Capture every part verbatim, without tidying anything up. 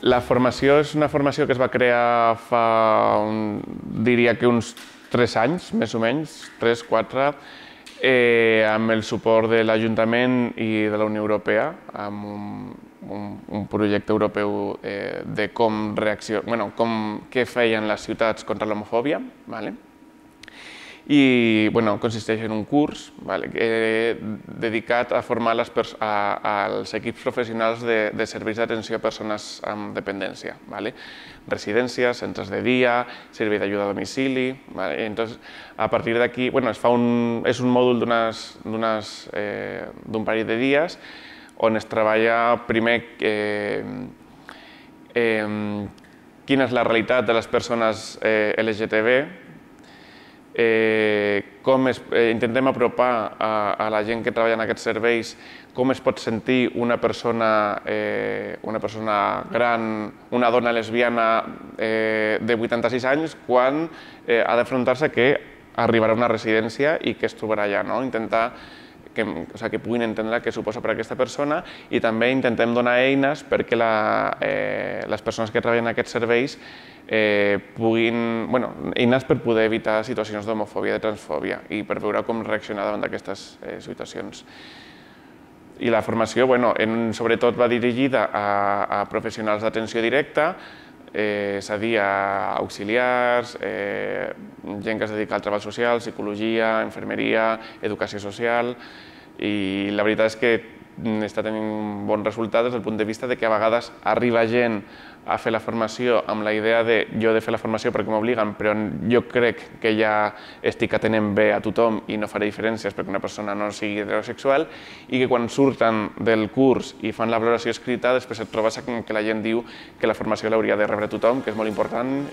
La formació és una formació que es va crear fa, un, diria que uns tres anys, més o menys, tres, quatre, eh, amb el suport de l'Ajuntament i de la Unió Europea, amb un, un, un projecte europeu eh, de com reacció, bueno, com, què feien les ciutats contra l'homofòbia, ¿vale? I bueno, consisteix en un curs, vale, eh, dedicat a formar les a, als equips professionals de, de serveis d'atenció a persones amb dependència, vale? Residències, centres de dia, servei d'ajuda a domicili. Vale? Entonces, a partir d'aquí, bueno, es fa un, és un mòdul d'un eh, parell de dies on es treballa primer eh, eh, quina és la realitat de les persones eh, L G T B, Eh, com es, eh, intentem apropar a, a la gent que treballa en aquests serveis com es pot sentir una persona, eh, una persona gran, una dona lesbiana eh, de vuitanta-sis anys quan eh, ha d'afrontar-se que arribarà a una residència i que es trobarà allà, no? Intentar que, o sigui, que puguin entendre què suposa per a aquesta persona i també intentem donar eines perquè la, eh, les persones que treballen en aquests serveis Eh, puguin, bueno, eines per poder evitar situacions d'homofòbia, de transfòbia i per veure com reaccionar davant d'aquestes eh, situacions. I la formació, bueno, en, sobretot va dirigida a, a professionals d'atenció directa, eh, és a dir, a auxiliars, eh, gent que es dedica al treball social, psicologia, infermeria, educació social, i la veritat és que està tenint bons resultats des del punt de vista de que a vegades arriba gent a fer la formació amb la idea de jo he de fer la formació perquè m'obliguen, però jo crec que ja estic atenent bé a tothom i no faré diferències perquè una persona no sigui heterosexual, i que quan surten del curs i fan la valoració escrita després et trobes que la gent diu que la formació l'hauria de rebre tothom, que és molt important.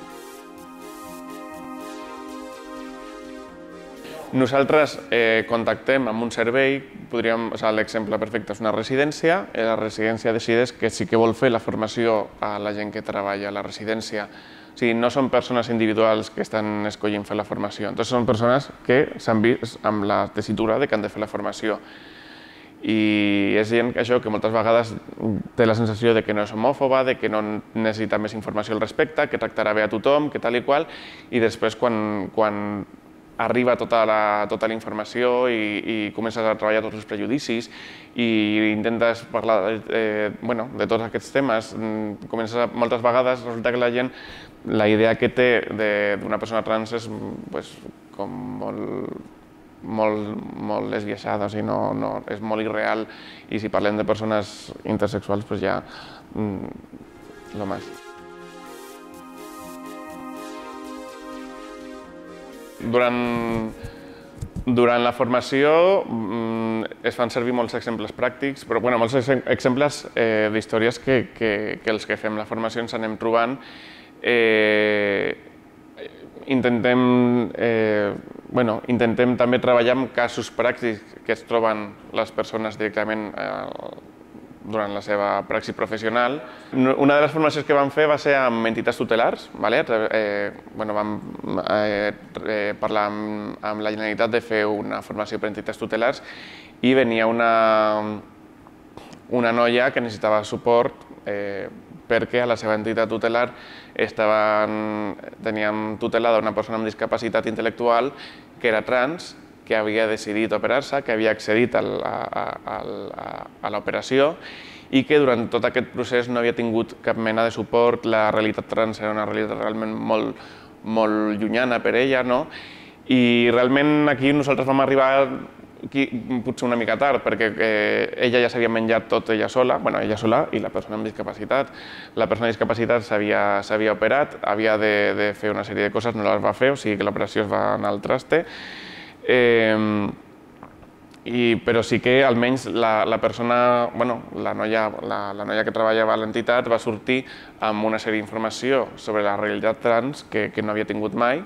Nosaltres eh, contactem amb un servei, podríem, o sigui, l'exemple perfecte és una residència, i la residència decideix que sí que vol fer la formació a la gent que treballa a la residència. O sigui, no són persones individuals que estan escollint fer la formació, entonces són persones que s'han vist amb la tessitura de que han de fer la formació. I és gent això que moltes vegades té la sensació de que no és homòfoba, de que no necessita més informació al respecte, que tractarà bé a tothom, que tal i qual, i després quan, quan arriba tota la, tota la informació i, i comences a treballar tots els prejudicis i intentes parlar eh, bueno, de tots aquests temes, comences a, moltes vegades resulta que la gent, la idea que té d'una persona trans és pues, com molt, molt, molt esbiaixada, o sigui, no, no, és molt irreal, i si parlem de persones intersexuals, pues ja mm, lo más. Durant, durant la formació es fan servir molts exemples pràctics, però bueno, molts exemples eh, d'històries que, que, que els que fem la formació ens anem trobant. Eh, intentem, eh, bueno, intentem també treballar amb casos pràctics que es troben les persones directament eh, durant la seva praxi professional. Una de les formacions que vam fer va ser amb entitats tutelars. Vale? Eh, bueno, vam eh, parlar amb, amb la Generalitat de fer una formació per entitats tutelars i venia una, una noia que necessitava suport eh, perquè a la seva entitat tutelar estaven, teníem tutelada una persona amb discapacitat intel·lectual que era trans, que havia decidit operar-se, que havia accedit a, a, a, a l'operació i que durant tot aquest procés no havia tingut cap mena de suport. La realitat trans era una realitat realment molt, molt llunyana per ella, no? I realment aquí nosaltres vam arribar aquí, potser una mica tard, perquè eh, ella ja s'havia menjat tot ella sola, bueno, ella sola i la persona amb discapacitat. La persona amb discapacitat s'havia operat, havia de, de fer una sèrie de coses, no les va fer, o sigui que l'operació es va anar al traste. Eh, i, però sí que almenys la, la persona, bueno, la noia, la, la noia que treballava a l'entitat va sortir amb una sèrie d'informació sobre la realitat trans que, que no havia tingut mai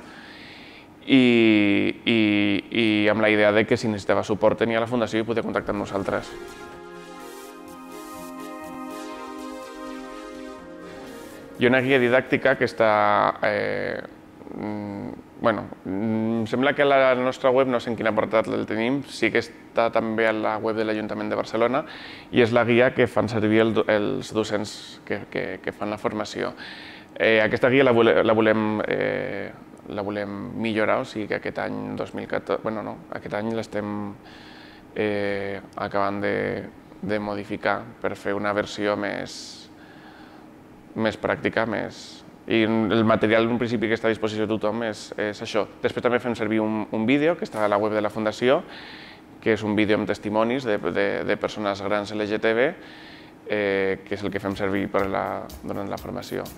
i, i, i amb la idea de que si necessitava suport tenia la Fundació i podia contactar amb nosaltres. Hi ha una guia didàctica que està eh, bueno, sembla que a la nostra web, no sé en quin apartat el tenim, sí que està també a la web de l'Ajuntament de Barcelona i és la guia que fan servir el, els docents que, que, que fan la formació. Eh, aquesta guia la, vole, la, volem, eh, la volem millorar, o sigui que aquest any dos mil catorze, bueno, no, aquest any l'estem eh, acabant de, de modificar per fer una versió més, més pràctica, més... I el material en principi que està a disposició de tothom és, és això. Després també fem servir un, un vídeo que està a la web de la Fundació, que és un vídeo amb testimonis de, de, de persones grans L G T B, eh, que és el que fem servir per la, durant la formació.